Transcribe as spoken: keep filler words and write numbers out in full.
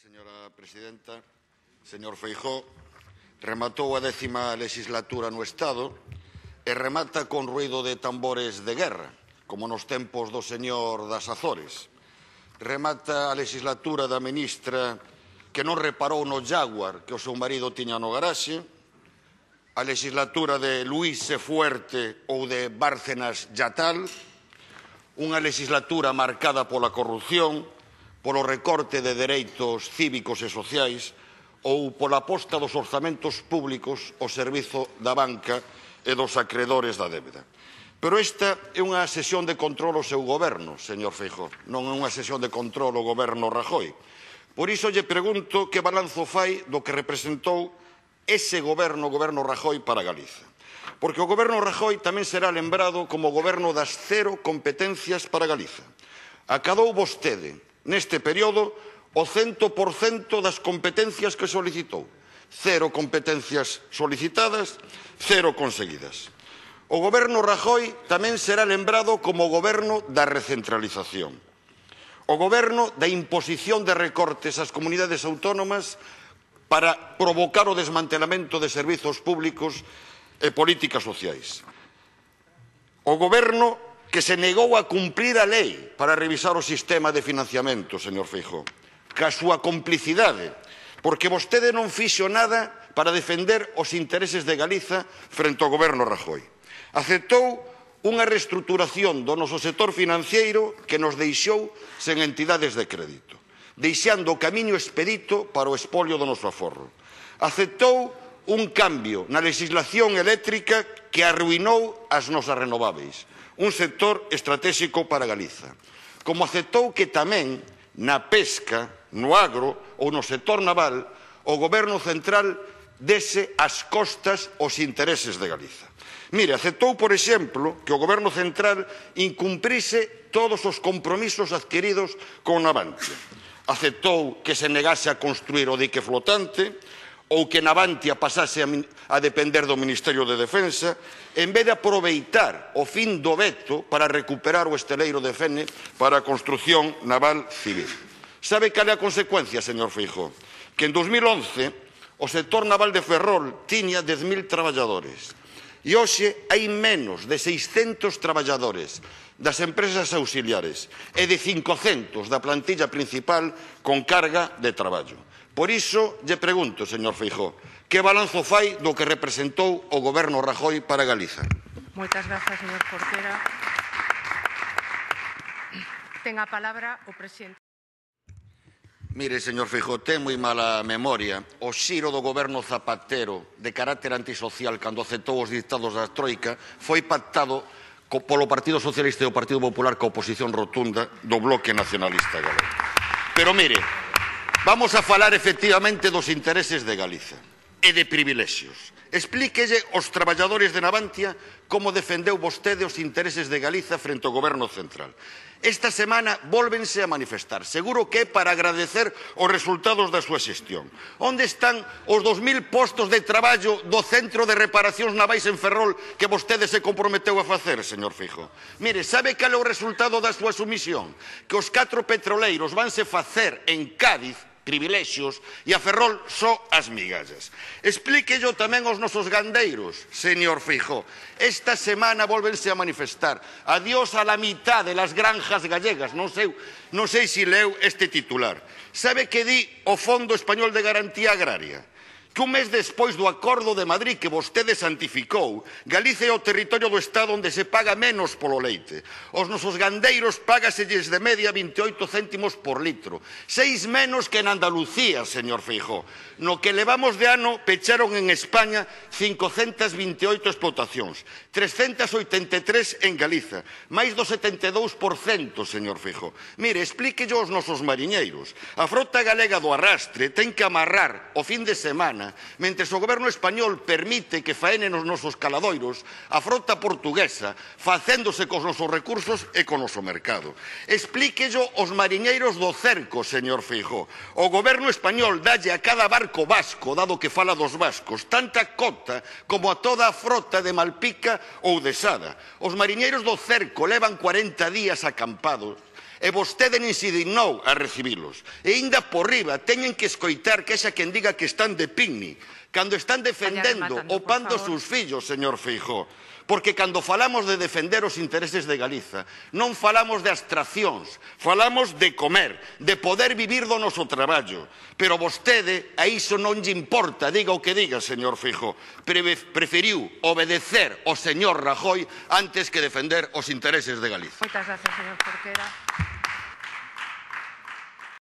señora presidenta. Señor Feijóo, rematou a décima legislatura no Estado e remata con ruído de tambores de guerra, como nos tempos do señor das Azores. Remata a legislatura da ministra que non reparou no Jaguar que o seu marido tiña no garaxe, a legislatura de Luís E. Fuerte ou de Bárcenas Yatal, unha legislatura marcada pola corrupción, polo recorte de dereitos cívicos e sociais ou pola aposta dos orzamentos públicos ao servizo da banca e dos acreedores da débeda. Pero esta é unha sesión de control ao seu goberno, señor Feijóo, non é unha sesión de control ao goberno Rajoy. Por iso lle pregunto que balanzo fai do que representou ese goberno, o goberno Rajoy, para Galiza. Porque o goberno Rajoy tamén será lembrado como o goberno das cero competencias para Galiza. Acadou vostede, neste período, o cento por cento das competencias que solicitou. Cero competencias solicitadas, cero conseguidas. O goberno Rajoy tamén será lembrado como o goberno da recentralización. O goberno da imposición de recortes ás comunidades autónomas para provocar o desmantelamento de servizos públicos e políticas sociais. O goberno que se negou a cumprir a lei para revisar o sistema de financiamento, señor Feijóo, ca súa complicidade, porque vostede non fixo nada para defender os intereses de Galiza frente ao goberno Rajoy. Aceptou unha reestruturación do noso sector financeiro que nos deixou sen entidades de crédito, deixando o camiño expedito para o espolio do noso aforro. Aceptou un cambio na legislación eléctrica que arruinou as nosas renováveis, un sector estratégico para Galiza. Como aceptou que tamén na pesca, no agro ou no sector naval, o goberno central dese as costas os intereses de Galiza. Mire, aceptou, por exemplo, que o goberno central incumprise todos os compromisos adquiridos con Navantia. Aceptou que se negase a construir o dique flotante ou que Navantia pasase a depender do Ministerio de Defensa, en vez de aproveitar o fin do veto para recuperar o esteleiro de Fene para a construción naval civil. Sabe cal é a consecuencia, señor Feijóo? Que en dos mil once o sector naval de Ferrol tiña dez mil traballadores e hoxe hai menos de seiscentos traballadores das empresas auxiliares e de cincocentos da plantilla principal con carga de traballo. Por iso, lle pregunto, señor Feijóo, que balanzo fai do que representou o goberno Rajoy para Galiza? Moitas grazas, señor Portera. Ten a palabra o presidente. Mire, señor Feijóo, ten moi mala memoria. O xiro do goberno Zapatero de carácter antisocial cando aceptou os dictados da Troika foi pactado polo Partido Socialista e o Partido Popular coa oposición rotunda do Bloque Nacionalista Galego. Pero mire, vamos a falar efectivamente dos intereses de Galiza e de privilexios. Explíquelle aos traballadores de Navantia como defendeu vostede os intereses de Galiza frente ao goberno central. Esta semana vólvense a manifestar. Seguro que é para agradecer os resultados da súa xestión. Onde están os dos mil postos de traballo do Centro de Reparacións Navais en Ferrol que vostede se comprometeu a facer, señor Feijóo? Mire, sabe cal é o resultado da súa sumisión? Que os catro petroleiros vanse facer en Cádiz privilexios e a Ferrol só as migallas. Explíquello tamén aos nosos gandeiros, señor Feijóo. Esta semana volvense a manifestar. Adiós a la mitad de las granjas gallegas. Non sei, non sei se leu este titular. Sabe que di o Fondo Español de Garantía Agraria? Que un mes despois do Acordo de Madrid que vostede santificou, Galicia é o territorio do Estado onde se paga menos polo leite. Os nosos gandeiros págaselles de media vinte e oito céntimos por litro. Seis menos que en Andalucía, señor Feijóo. No que levamos de ano pecharon en España cincocentas vinte e oito explotacións, trescentas oitenta e tres en Galiza, máis do setenta e dous por cento, señor Feijóo. Mire, explíquello aos nosos mariñeiros. A frota galega do arrastre ten que amarrar o fin de semana mentres o goberno español permite que faenen os nosos caladoiros, a frota portuguesa, facéndose cos nosos recursos e co noso mercado. Explíquello aos mariñeiros do cerco, señor Feijóo. O goberno español dalle a cada barco vasco, dado que fala dos vascos, tanta cota como a toda a frota de Malpica ou de Sada. Os mariñeiros do cerco levan cuarenta días acampados E vostede nin se dignou a recibilos. E ainda por riba teñen que escoitar que xa quen diga que están de picnic, cando están defendendo o pan dos seus fillos, señor Feijóo. Porque cando falamos de defender os intereses de Galiza, non falamos de abstraccións, falamos de comer, de poder vivir do noso traballo. Pero vostede, a iso non lle importa, diga o que diga, señor Feijóo. Preferiu obedecer ao señor Rajoy antes que defender os intereses de Galiza. Moitas gracias, señor Jorquera.